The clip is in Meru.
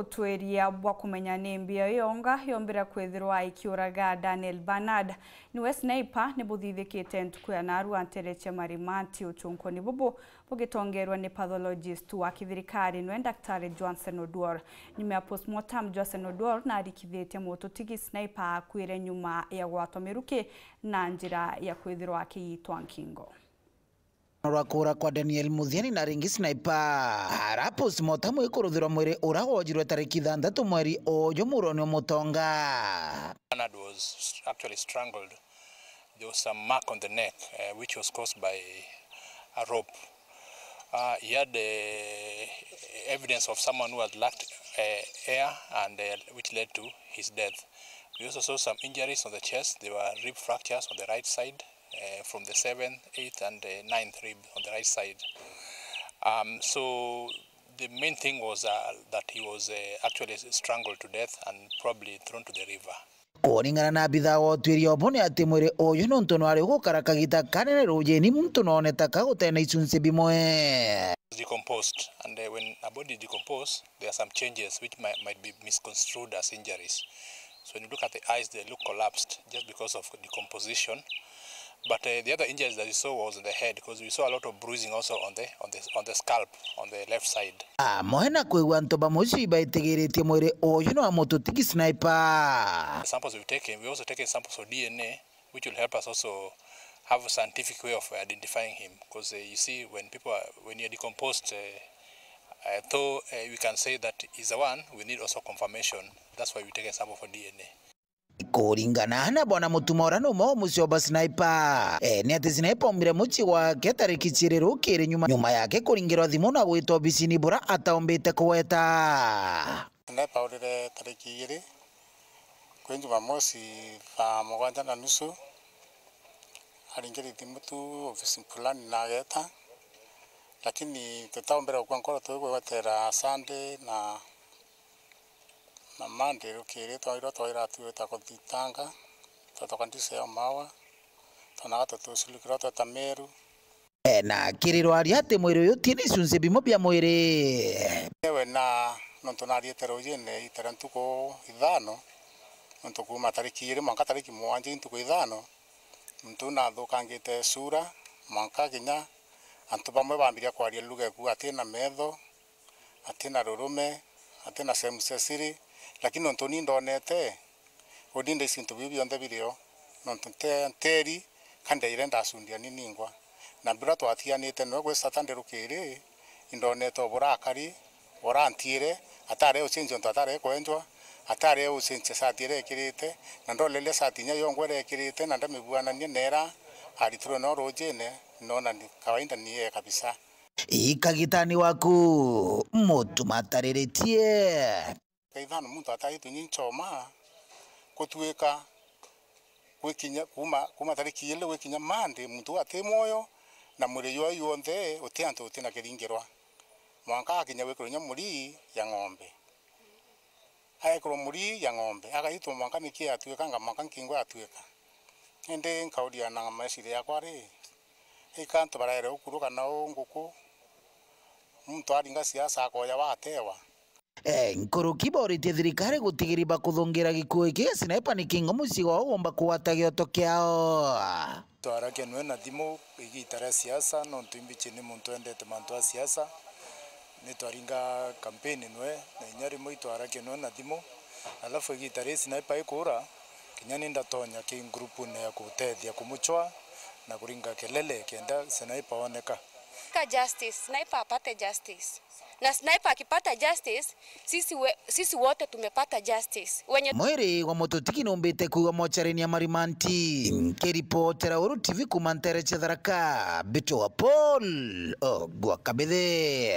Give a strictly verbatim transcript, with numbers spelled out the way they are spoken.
Utwiria bwa kumenya ni mbio yonga yombire kwithirwa ikiuraga Daniel Bernard niwe sniper ni buthithikite ntuku ya narua ntere cia Marimanti. Uchunkuni bubu bugitongerwa ni pathologist wa kithirikari niwe Daktari Johnson Oduor. Nyuma ya postmortem, Johnson Oduor narikithitie mututigi sniper akuire nyuma ya gwatwa miruki na njira ya kwithirwa akiyitwa nkingo. Rwa kuura kwa Daniel Muthiani na ringi sniper. Ara postmortem ikuruthirwa mwiri ura wojirwe tariki ithanthatu mweri uyu muroni wa Mutonga. Bernard was actually strangled. There was some mark on the neck, uh, which was caused by a rope. Uh, he had, uh, evidence of someone who had lacked, uh, air and, uh, which led to his death. We also saw some injuries on the chest. There were rib fractures on the right side, uh, from the seventh, eighth, and, uh, ninth rib on the right side. Um, so the main thing was, uh, that he was, uh, actually strangled to death and probably thrown to the river. Kuringana na abitha wa utwiria ubu ni ati mwiri uyu nontu nwari ugukara kagita kanene rujini, muntu nooneta ka gutee na icunci bimwe. Decomposed, and, uh, when a body decompose, there are some changes which might, might be misconstrued as injuries. So when you look at the eyes, they look collapsed just because of decomposition. But, uh, the other injuries that we saw was on the head, 'cause we saw a lot of bruising also on the, on the, on the scalp, on the left side. Amwe na kwigua antu ba mucii baitigiritie mwiri uyu ni wa mututigi sniper. Samples we've taken, we also taken samples of D N A, which will help us also have a scientific way of identifying him. 'Cause, uh, you see, when people are, when you're decomposed, uh, uh, though, uh, we can say that is the one, we need also confirmation. That's why we take a sample for D N A. Kuringana na bwana Mutuma uria ni umwe wa mucii wa ba sniper, e, ni ati sniper aumire mucii gwake tariki ciiri rukiri nyuma, nyuma yake kuringirwa thimu na gwitwa obisini bura ataumbite kugweta. Sniper aurire tariki igiri kwi Jumamosi thaa mugwanja na nusu, aringire thimu tu obisini fulani na ageta, lakini tutaumbire gukua nkoro twigwetera Sunday na Na Monday rukiri twairwa twaira tuita kuthitanga, twatoka ndise ya Mawa, twonaga tutucurukirwa tweta Meru. E, na akirwa aria ati mwiri uyu utina icunci bimwe bia mwiri. Ewe na nontu nariite rujine itara ntuku ithano, nontu kuuma tariki igiri mwanka tariki mugwanja i ntuku ithano, muntu nathukangite sura, mwanka kinya antu bamwe bambiria kwaria lugha eku atina metho, atina rurume, atina sehemu cia siri, lakini nontu ni ndonete, uni ndaici into biu bionthe birio, nontu nte-, nteri, ka ndaire ndacundia ni ningwa. Na bura twatiganite nwe gwi Saturday rukiri, indonete o burakari, urantiire, atare ucenjia untu atare kwenjwa, atare ucenjia sati iria ekirite, na ndoleria sati inya yongwa iria ekirite, na ndamibuanania nera aritirwe no rujine, nona ni kawaida ni yeye kabisa. Ikagitani waku, Mutuma atariritie. Kaithano muntu ataitwe ni nchoma, kutuika gwikinya, kuma, kuma tariki igiri gwikinya Monday, muntu uu ati mwoyo, na mwiri jwae juonthe uti antu utina kiringirwa. Mwanka akinya gwikirwa inya murii ya ng'ombe. Aekirwa murii ya ng'ombe, agaitwa mwanka miki yatuikanga, mwanka nkingo yatuika. Indi nkauria na meciria yakwa ri, ika antu baraere ukuruka na uu nguku, muntu aringa siasa akoya watewa? E, nkuruki boritie thirikari gutigiri bakuthungira gikuo giki gia sniper niki ngo mucii gwao gumba kugwata gioto kiao. Twarakia nwe na thimu igiita ria siasa, nontu imbichi ni muntu endete mantu a siasa. Ni twaringa campaign nwe, na inya rimwe itwarakia nwe na thimu. Alafu igiita rii sniper ikuura, kinya ni ndatonya ki groupune ya kutethia kumuchwa na kuringa kelele kenda sniper oneka. Ka justice, sniper apate justice. Na sniper akipata justice, sisi we-, sisi wote tumepata justice. Wenye Mwiri wa mututigi numbite kuigwa mochari-ini ya Marimanti. Nkiripotera Uru T V kuuma ntere cia Tharaka, mbitagwa Paul Ogwa Kabithe.